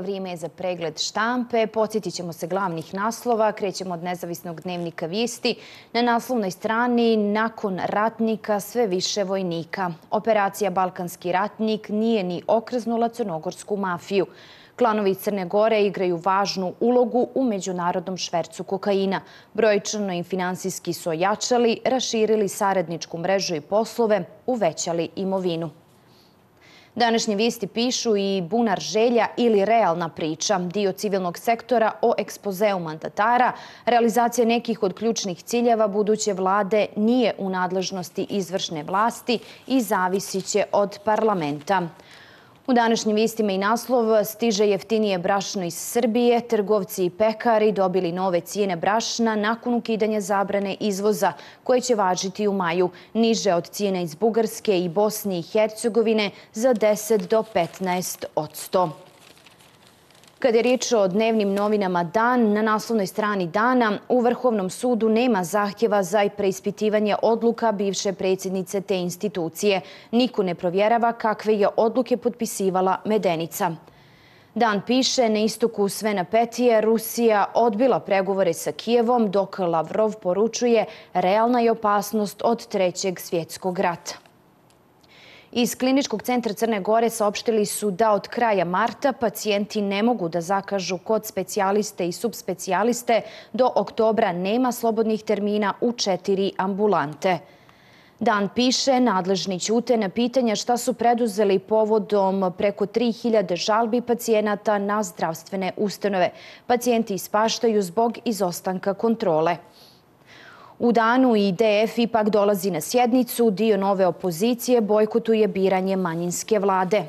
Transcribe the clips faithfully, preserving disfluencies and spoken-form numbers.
Vrijeme je za pregled štampe. Podsjetit ćemo se glavnih naslova. Krećemo od nezavisnog dnevnika Vijesti. Na naslovnoj strani nakon ratnika sve više vojnika. Operacija Balkanski ratnik nije ni okrznula crnogorsku mafiju. Klanovi iz Crne Gore igraju važnu ulogu u međunarodnom švercu kokaina. Brojčano i finansijski su ojačali, raširili saradničku mrežu i poslove, uvećali imovinu. Današnje vijesti pišu i bunar želja ili realna priča, dio civilnog sektora o ekspozeu mandatara, realizacija nekih od ključnih ciljeva buduće vlade nije u nadležnosti izvršne vlasti i zavisit će od parlamenta. U današnjim vijestima i naslov stiže jeftinije brašno iz Srbije. Trgovci i pekari dobili nove cijene brašna nakon ukidanja zabrane izvoza koje će važiti u maju, niže od cijene iz Bugarske i Bosne i Hercegovine za deset do petnaest posto. Kada je riječ o dnevnim novinama Dan, na naslovnoj strani Dana u Vrhovnom sudu nema zahtjeva za preispitivanje odluka bivše predsjednice te institucije. Niko ne provjerava kakve je odluke potpisivala Medenica. Dan piše, na istoku sve napetije, Rusija odbila pregovore sa Kijevom, dok Lavrov poručuje realna je opasnost od trećeg svjetskog rata. Iz Kliničkog centra Crne Gore saopštili su da od kraja marta pacijenti ne mogu da zakažu kod specijaliste i subspecijaliste. Do oktobra nema slobodnih termina u četiri ambulante. Dan piše, nadležni ćute na pitanja šta su preduzeli povodom preko tri hiljade žalbi pacijenata na zdravstvene ustanove. Pacijenti ispaštaju zbog izostanka kontrole. U Danu i D F ipak dolazi na sjednicu, dio nove opozicije bojkotuje biranje manjinske vlade.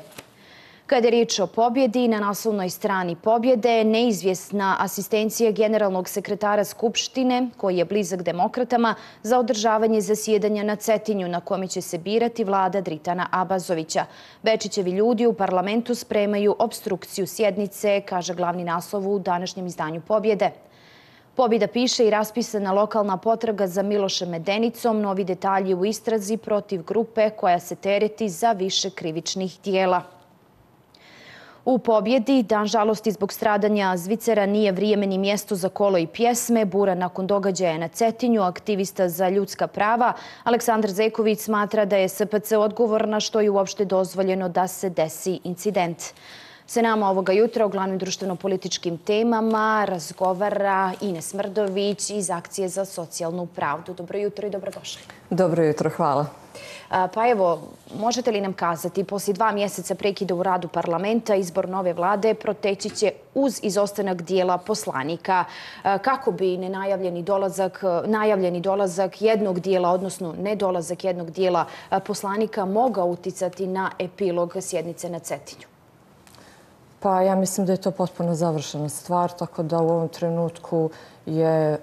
Kada je riječ o pobjedi, na naslovnoj strani pobjede neizvjesna asistencija generalnog sekretara Skupštine, koji je blizak demokratama, za održavanje zasjedanja na Cetinju, na kome će se birati vlada Dritana Abazovića. Bečićevi ljudi u parlamentu spremaju opstrukciju sjednice, kaže glavni naslov u današnjem izdanju Pobjede. Pobjeda piše i raspisana lokalna potraga za Milošem Medenicom, novi detalji u istrazi protiv grupe koja se tereti za više krivičnih dijela. U Pobjedi, dan žalosti zbog stradanja Zvicera nije vrijeme ni mjesto za kolo i pjesme. Bura nakon događaja na Cetinju, aktivista za ljudska prava Aleksandar Zeković smatra da je S P C odgovorna što je uopšte dozvoljeno da se desi incident. Se nama ovoga jutra o glavnim društveno-političkim temama razgovara Ines Mrdović iz Akcije za socijalnu pravdu. Dobro jutro i dobrodošli. Dobro jutro, hvala. Pa evo, možete li nam kazati, poslije dva mjeseca prekida u radu parlamenta, izbor nove vlade proteći će uz izostanak dijela poslanika. Kako bi nenajavljeni dolazak, najavljeni dolazak jednog dijela, odnosno nedolazak jednog dijela poslanika mogao uticati na epilog sjednice na Cetinju? Pa ja mislim da je to potpuno završena stvar, tako da u ovom trenutku je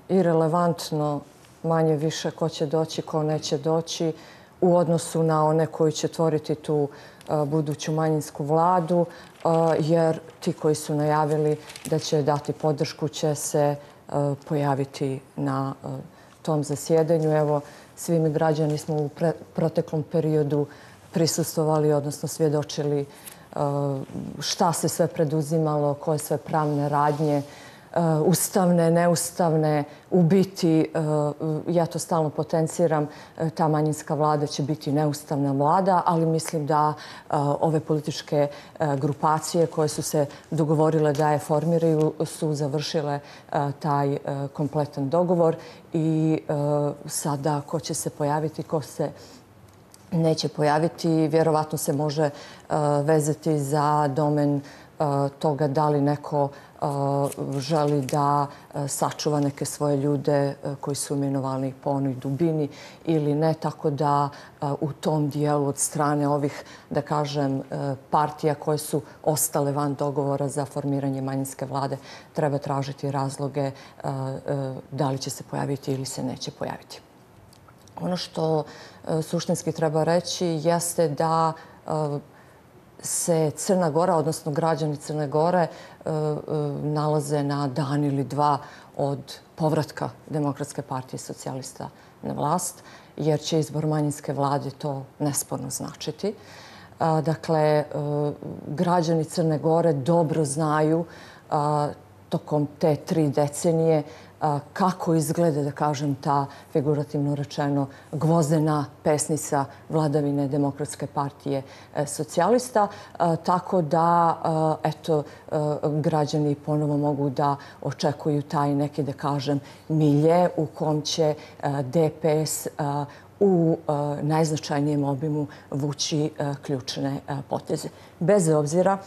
irelevantno manje više ko će doći, ko neće doći u odnosu na one koji će tvoriti tu buduću manjinsku vladu, jer ti koji su najavili da će dati podršku će se pojaviti na tom zasjedanju. Evo, svi mi građani smo u proteklom periodu prisustvovali, odnosno svjedočili šta se sve preduzimalo, koje sve pravne radnje, ustavne, neustavne, u biti, ja to stalno potenciram, ta manjinska vlada će biti neustavna vlada, ali mislim da ove političke grupacije koje su se dogovorile da je formiraju su završile taj kompletan dogovor i sada ko će se pojaviti, ko se neće pojaviti, vjerovatno se može vezati za domen toga da li neko želi da sačuva neke svoje ljude koji su imenovani po onoj dubini ili ne, tako da u tom dijelu od strane ovih, da kažem, partija koje su ostale van dogovora za formiranje manjinske vlade treba tražiti razloge da li će se pojaviti ili se neće pojaviti. Ono što suštinski treba reći jeste da se Crna Gora, odnosno građani Crne Gore, nalaze na dan ili dva od povratka Demokratske partije socijalista na vlast, jer će izbor manjinske vlade to nesporno značiti. Dakle, građani Crne Gore dobro znaju tokom te tri decenije kako izgleda, da kažem, ta, figurativno rečeno, gvozdena pesnica vladavine Demokratske partije socijalista. Tako da, eto, građani ponovo mogu da očekuju taj neki, da kažem, milje u kom će D P S u najznačajnijem obimu vući ključne poteze. Bez obzira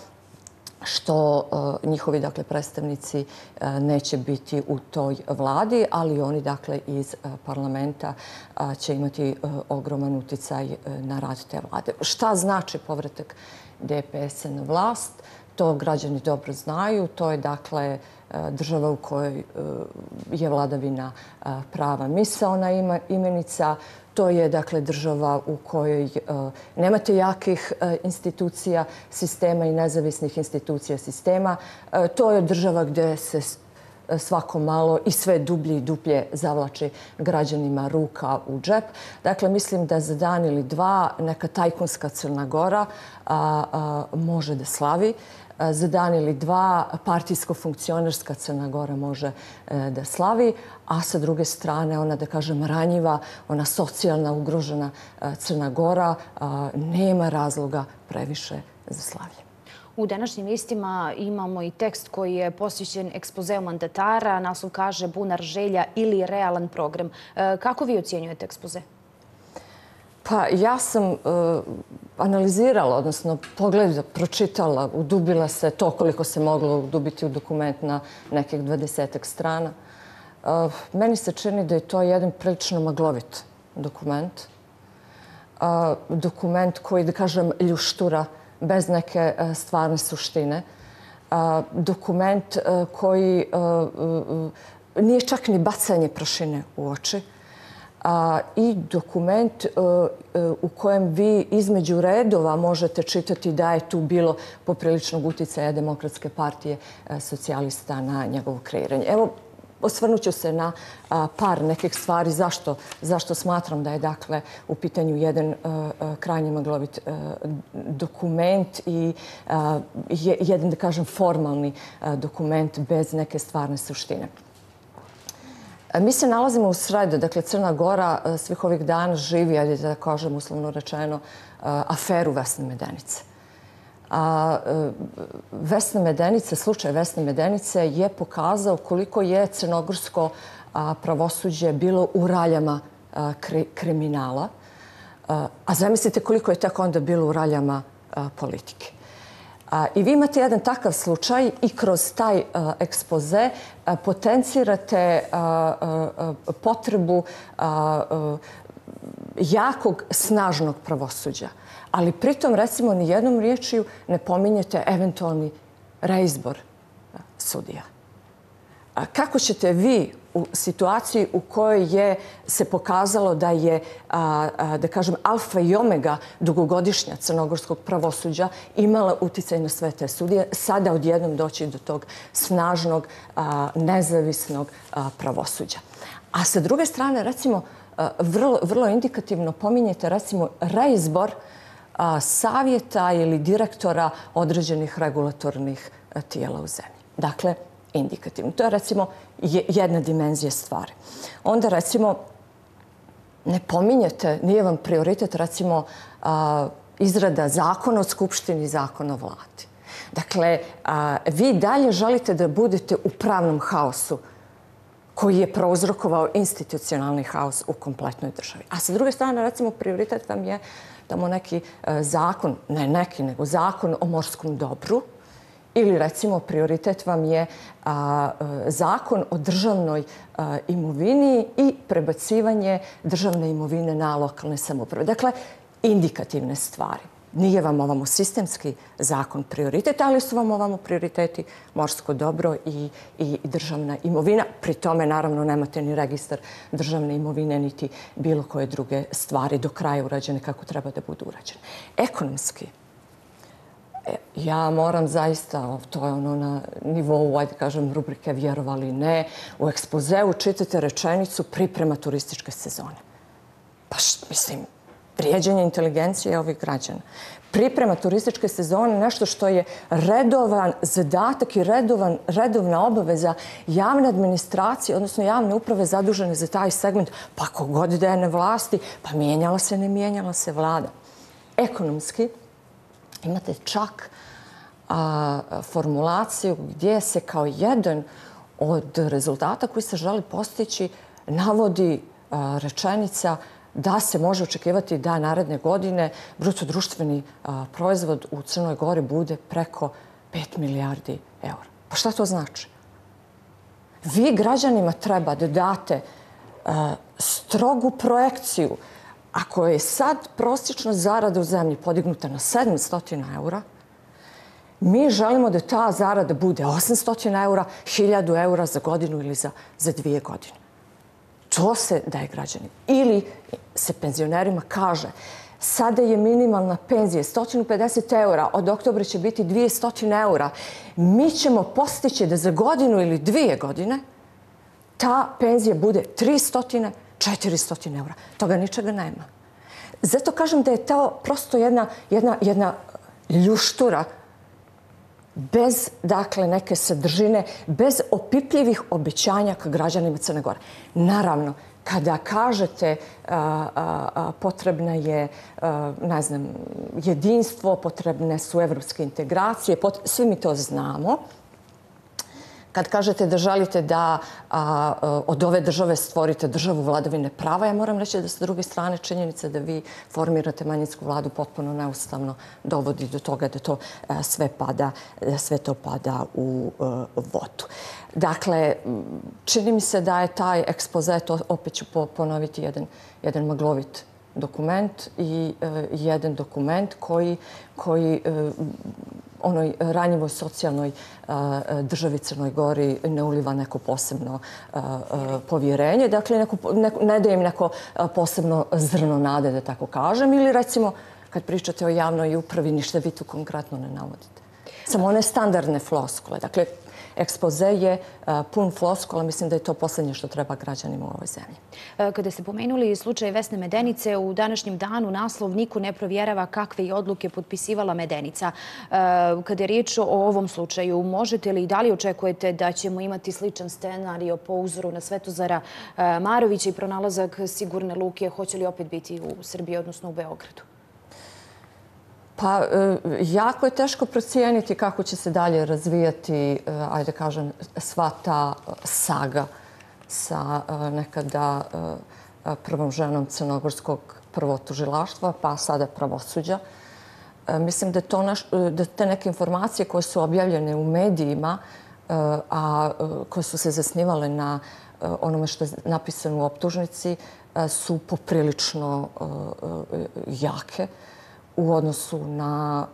što njihovi, dakle, predstavnici neće biti u toj vladi, ali oni, dakle, iz parlamenta će imati ogroman uticaj na rad te vlade. Šta znači povratak D P S-a na vlast? To građani dobro znaju. To je, dakle, država u kojoj je vladavina prava misaona imenica. To je, dakle, država u kojoj nemate jakih institucija sistema i nezavisnih institucija sistema. To je država gde se svako malo i sve dublje i dublje zavlači građanima ruka u džep. Dakle, mislim da za dan ili dva neka tajkunska Crna Gora može da slavi. Za dan ili dva partijsko-funkcionerska Crna Gora može da slavi, a sa druge strane ona, da kažem, ranjiva, ona socijalna ugrožena Crna Gora nema razloga previše za slavlje. U današnjim listima imamo i tekst koji je posvećen ekspozeu mandatara. Naslov kaže Bunar želja ili realan program. Kako vi ocjenjujete ekspoze? Pa ja sam analizirala, odnosno pogledala, pročitala, udubila se to koliko se moglo udubiti u dokument na nekih dvadesetak strana. Meni se čini da je to jedan prilično maglovit dokument. Dokument koji, da kažem, ljuštura bez neke stvarne suštine. Dokument koji nije čak ni bacanje prašine u oči. I dokument u kojem vi između redova možete čitati da je tu bilo popriličnog uticaja Demokratske partije socijalista na njegovo kreiranje. Evo, osvrnut ću se na par nekih stvari zašto smatram da je, dakle, u pitanju jedan krajnje maglovit dokument i jedan, da kažem, formalni dokument bez neke stvarne suštine. Mi se nalazimo u sredu, dakle, Crna Gora svih ovih dana živi, ajde da kažem uslovno rečeno, aferu Vesne Medenice. Vesna Medenica, slučaj Vesne Medenice je pokazao koliko je crnogorsko pravosuđe bilo u raljama kriminala, a zamislite koliko je tako onda bilo u raljama politike. I vi imate jedan takav slučaj i kroz taj ekspoze potencirate potrebu jakog, snažnog pravosuđa. Ali pritom, recimo, ni jednom riječju ne pominjete eventualni reizbor sudija. Kako ćete vi u situaciji u kojoj je se pokazalo da je, da kažem, alfa i omega dugogodišnja crnogorskog pravosuđa imala uticaj na sve te sudije, sada odjednom doći do tog snažnog, nezavisnog pravosuđa? A sa druge strane, recimo, vrlo indikativno pominjete, recimo, reizbor savjeta ili direktora određenih regulatornih tijela u zemlji. Dakle, indikativno. To je, recimo, jedna dimenzija stvari. Onda, recimo, ne pominjete, nije vam prioritet, recimo, izrada zakona o Skupštini i zakona o vladi. Dakle, vi dalje želite da budete u pravnom haosu koji je prouzrokovao institucionalni haos u kompletnoj državi. A sa druge strane, recimo, prioritet vam je tamo neki zakon, ne neki, nego zakon o morskom dobru, ili, recimo, prioritet vam je zakon o državnoj imovini i prebacivanje državne imovine na lokalne samouprave. Dakle, indikativne stvari. Nije vam ovamo sistemski zakon prioritet, ali su vam ovamo prioriteti morsko dobro i državna imovina. Pri tome, naravno, nemate ni registar državne imovine, niti bilo koje druge stvari do kraja urađene kako treba da budu urađene. Ekonomski, ja moram zaista, to je ono na nivou, ajde kažem, rubrike vjerovali ne, u ekspozeu čitate rečenicu priprema turističke sezone. Pa mislim, vrijeđanje inteligencije ovih građana. priprema turističke sezone nešto što je redovan zadatak i redovan, redovna obaveza javne administracije, odnosno javne uprave zadužene za taj segment, pa kogod da je na vlasti, pa mijenjala se, ne mijenjala se vlada. Ekonomski imate čak a, formulaciju gdje se kao jedan od rezultata koji se želi postići navodi a, rečenica da se može očekivati da naredne godine bruto društveni a, proizvod u Crnoj Gori bude preko pet milijardi eura. Pa šta to znači? Vi građanima treba da date a, strogu projekciju. Ako je sad prosječna zarada u zemlji podignuta na sedamsto eura, mi želimo da ta zarada bude osamsto eura, hiljadu eura za godinu ili za, za dvije godine. To se daje građanima. Ili se penzionerima kaže, sada je minimalna penzija sto pedeset eura, od oktobra će biti dvjesto eura. Mi ćemo postići da za godinu ili dvije godine ta penzija bude tristo, četiristo eura. Toga ničega nema. Zato kažem da je to prosto jedna, jedna, jedna ljuštura bez, dakle, neke sadržine, bez opipljivih obećanja ka građanima Crne Gore. Naravno, kada kažete a, a, a, potrebna je, a, ne znam, jedinstvo, potrebne su evropske integracije, pot... svi mi to znamo. Kad kažete da želite da a, od ove države stvorite državu vladavine prava, ja moram reći da sa druge strane činjenica da vi formirate manjinsku vladu potpuno neustavno dovodi do toga da to a, sve pada, da sve to pada u a, vodu. Dakle, čini mi se da je taj ekspoze, to opet ću ponoviti, jedan, jedan maglovit dokument i e, jedan dokument koji, koji e, onoj ranjivoj socijalnoj a, državi Crnoj Gori ne uliva neko posebno a, a, povjerenje. Dakle, neko, neko, ne daje im neko posebno zrno nade, da tako kažem. Ili recimo, kad pričate o javnoj upravi, ništa vi tu konkretno ne navodite. Samo one standardne floskule. Dakle, ekspoze je a, pun floskula. Mislim da je to posljednje što treba građanima u ovoj zemlji. Kada ste pomenuli slučaj Vesne Medenice, u današnjem danu naslov niko ne provjerava kakve je odluke potpisivala Medenica. Kada je riječ o ovom slučaju, možete li i da li očekujete da ćemo imati sličan scenario po uzoru na Svetozara Marovića i pronalazak sigurne luke? Hoće li opet biti u Srbiji, odnosno u Beogradu? Pa, jako je teško procijeniti kako će se dalje razvijati, ajde kažem, sva ta saga sa nekada prvom ženom crnogorskog prvotužilaštva, pa sada pravosuđa. Mislim da, to naš, da te neke informacije koje su objavljene u medijima, a koje su se zasnivale na onome što je napisano u optužnici, su poprilično jake u odnosu na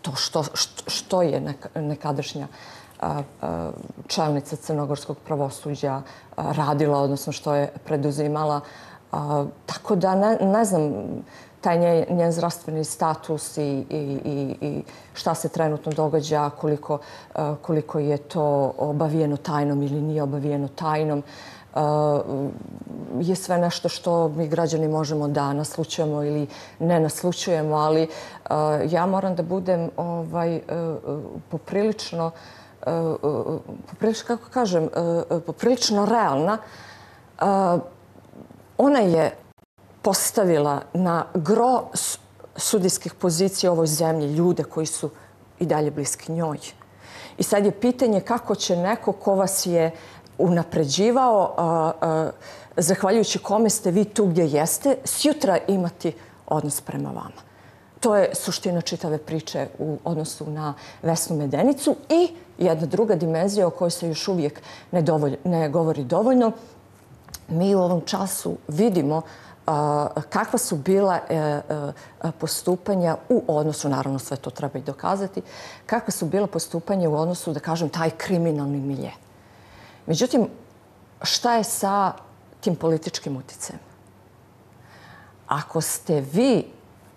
to što, što je nekadašnja čelnica crnogorskog pravosuđa radila, odnosno što je preduzimala. Tako da ne, ne znam taj njen, njen zdravstveni status i, i, i, i šta se trenutno događa, koliko, koliko je to obavijeno tajnom ili nije obavijeno tajnom. Je sve nešto što mi građani možemo da naslučujemo ili ne naslučujemo, ali ja moram da budem ovaj, poprilično, poprilično, kako kažem, poprilično realna. Ona je postavila na gro sudijskih pozicija u ovoj zemlji ljude koji su i dalje bliski njoj. I sad je pitanje kako će neko ko vas je unapređivao, a, a, zahvaljujući kome ste vi tu gdje jeste, sjutra imati odnos prema vama. To je suština čitave priče u odnosu na Vesnu Medenicu i jedna druga dimenzija o kojoj se još uvijek ne, dovolj, ne govori dovoljno. Mi u ovom času vidimo a, kakva su bila a, a, postupanja u odnosu, naravno sve to treba i dokazati, kakva su bila postupanja u odnosu, da kažem, taj kriminalni milje. Međutim, šta je sa tim političkim uticajem? Ako ste vi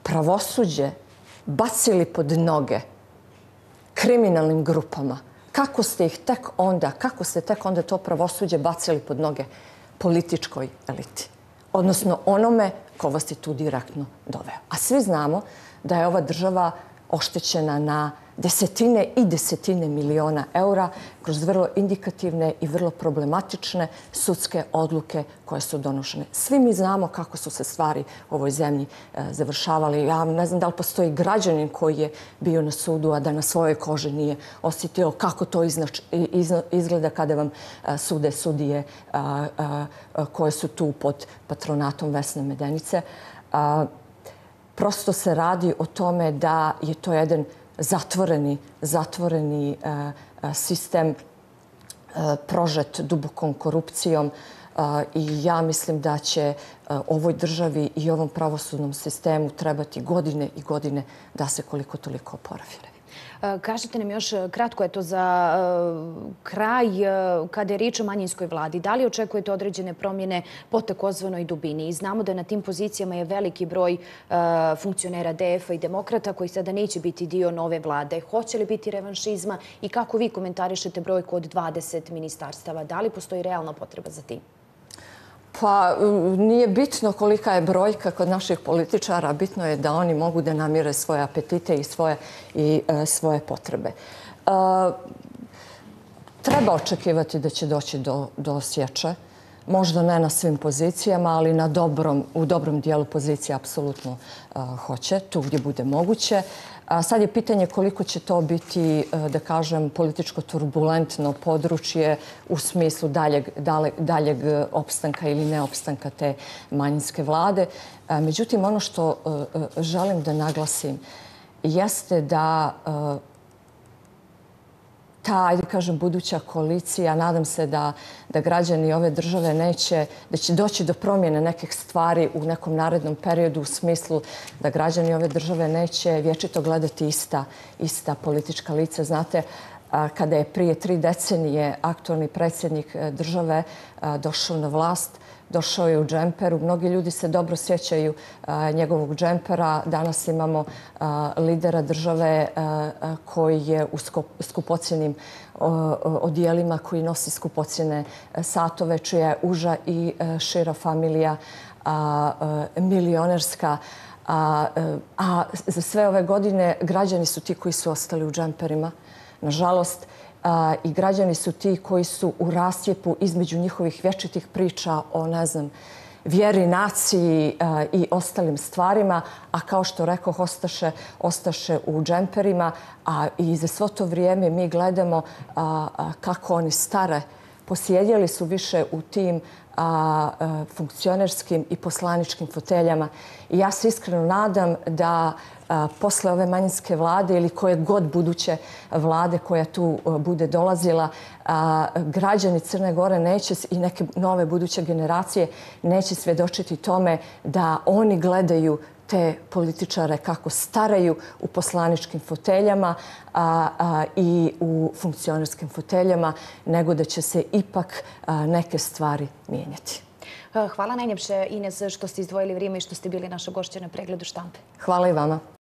pravosuđe bacili pod noge kriminalnim grupama, kako ste ih tek onda, kako ste tek onda to pravosuđe bacili pod noge političkoj eliti? Odnosno onome ko vas je tu direktno doveo. A svi znamo da je ova država oštećena na desetine i desetine miliona eura kroz vrlo indikativne i vrlo problematične sudske odluke koje su donošene. Svi mi znamo kako su se stvari u ovoj zemlji završavali. Ja ne znam da li postoji građanin koji je bio na sudu, a da na svojoj koži nije osjetio kako to izgleda kada vam sude sudije koje su tu pod patronatom Vesne Medenice. Prosto se radi o tome da je to jedan zatvoreni, zatvoreni sistem prožet dubokom korupcijom i ja mislim da će ovoj državi i ovom pravosudnom sistemu trebati godine i godine da se koliko toliko oporavi. Kažete nam još kratko je to za kraj kada je riječ o manjinskoj vladi. Da li očekujete određene promjene po takozvanoj dubini? I znamo da na tim pozicijama je veliki broj funkcionera D F-a i demokrata koji sada neće biti dio nove vlade. Hoće li biti revanšizma i kako vi komentarišete brojku od dvadeset ministarstava? Da li postoji realna potreba za tim? Pa nije bitno kolika je brojka kod naših političara, bitno je da oni mogu da namire svoje apetite i svoje, i, e, svoje potrebe. E, treba očekivati da će doći do, do sječe. Možda ne na svim pozicijama, ali na dobrom, u dobrom dijelu pozicije apsolutno uh, hoće, tu gdje bude moguće. A sad je pitanje koliko će to biti, uh, da kažem, političko turbulentno područje u smislu daljeg, daljeg, daljeg opstanka ili neopstanka te manjinske vlade. Uh, međutim, ono što uh, želim da naglasim jeste da uh, ta, ajde kažem, buduća koalicija, nadam se da, da građani ove države neće, da će doći do promjene nekih stvari u nekom narednom periodu u smislu da građani ove države neće vječito gledati ista, ista politička lica. Znate, kada je prije tri decenije aktualni predsjednik države došao na vlast, došao je u džemperu. Mnogi ljudi se dobro sjećaju a, njegovog džempera. Danas imamo a, lidera države a, a, koji je u skupocjenim odijelima, koji nosi skupocjene satove, čija je uža i a, šira familija a, a, milionerska. A, a za sve ove godine građani su ti koji su ostali u džemperima. Nažalost, A, i građani su ti koji su u rascijepu između njihovih vječitih priča o, ne znam, vjeri, naciji a, i ostalim stvarima, a kao što rekoh, ostaše, ostaše u džemperima, a i za svo to vrijeme mi gledamo a, a, kako oni stare. Posjedjeli su više u tim a, a, funkcionerskim i poslaničkim foteljama. I ja se iskreno nadam da a, posle ove manjinske vlade ili koje god buduće vlade koja tu a, bude dolazila, a, građani Crne Gore neće i neke nove buduće generacije neće svjedočiti tome da oni gledaju te političare kako staraju u poslaničkim foteljama a, a, i u funkcionerskim foteljama, nego da će se ipak a, neke stvari mijenjati. Hvala najljepše, Ines, što ste izdvojili vrijeme i što ste bili naša gošća na pregledu štampe. Hvala i vama.